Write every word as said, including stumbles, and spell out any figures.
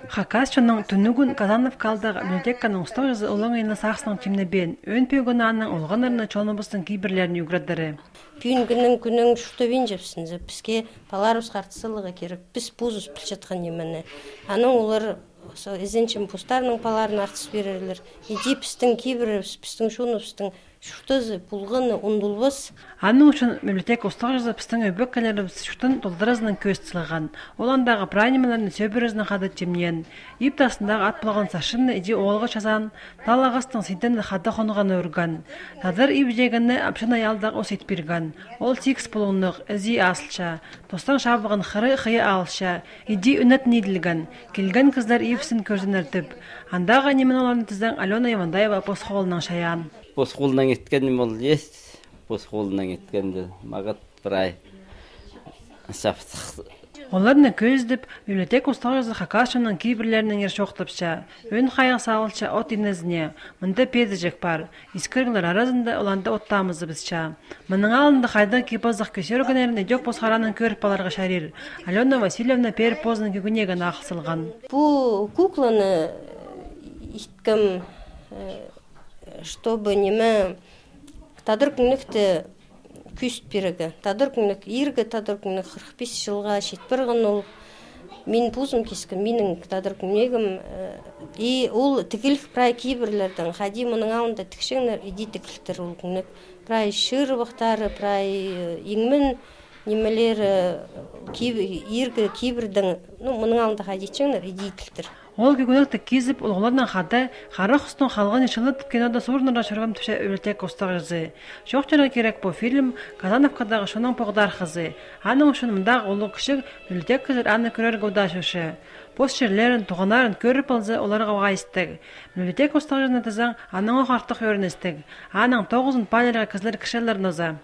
Хакас чонның тӱнігін Казановка аалдағы библиотеканың устағҷызы олаңай на сағыснаң тимнебеен, ӧӧн пӧгін аның олғаннарны чоныбыстың кибірлерін ӱгредері. Пӱӱнгінің кӱнің чуртабинчебіс, піске паларыбысха артыс саларға кирек. Піс позыбыс пілчеткен нимені. Анаң олар, со, ізенчем, постарының паларына артыс пирерлер. Иди пістің кибірібіс, пістің чоныбыстың чуртазы, полғаны ундулбас. Аның ӱчӱн библиотека устағҷызы пістің ӧбекелерібіс чуртын толдыразынаң кӧзіт салған. Ол андағы прай нимелерні сӧбірезінең хада тимнеен. Иб тастындағы ат полған сарчынны иди оолғы чазаан, тал ағастың сидіні хада хонғаны ӧрген. Тадар иб чиегіне апчана аалдағы ус ит пирген. Ол сигіс пулуңнығ, ізии азылча. Тостаң чабылған хыры хыйа алча, иди ӱнетін иділген. Килген кізілер ибісін кӧзеннер тіп. Андағы нимені оларны тізең, Алёна Ивандаева пос холынаң чайаан. Пос холынаң иткен ниме ол ес, пос холынаң иткенде мағат прай чаптых. Оларны кӧзідіп, библиотека устағҷызы хакас чонның кибірлерінеңер чоохтапча, ӧӧн хайығ салылча от инезіне. Мында пееджек пар. Искіріглер аразында оларны оттаабызыбысча. Мының алнында хайдағ кип-азах кӧзеріннерін идӧк пос харанаң кӧріп аларға чарир. Алёна Васильевна пеер позының кӧгенегін ағыл салған. Пу кукланы иткем, э, чтобы ниме, тадар кӱннікті кӧзіт пирерге. Тадар кӱннік, иргі тадар кӱннік хырых пис чылға чит парған ол. Мин позым кискем, минің тадар кӱннігім, э, и ол тігіліг прай кибірлердең, хайди мының алнында тікчеңнер, иди тігілтір ол кӱннік. Прай чырыбахтары, прай, э, иңмен нимелері, э, киб-, иргі кибірдең, ну, мының алнында хайди итчеңнер, иди иділтір. Ол кӧгенекті кизіп, улуғларнаң хада «Хара хустың халғанын чылы» тіп кинода суурынарға чӧргем, тіпче библиотека устағҷызы. Чоохтирға кирек, пу фильм Казановкадағы чонның поғдархазы. Аның ӱчӱн мындағы улуғ-кічіг библиотекачылар аны кӧрерге удаа чӧрче. Пос чирлерін, туғаннарын кӧріп алза, оларға уғаа истіг. Библиотека устағҷызына тізең, анаң ох артых ӧріністіг. Аның тоғызын паалирға кізілер кірчелер нооза.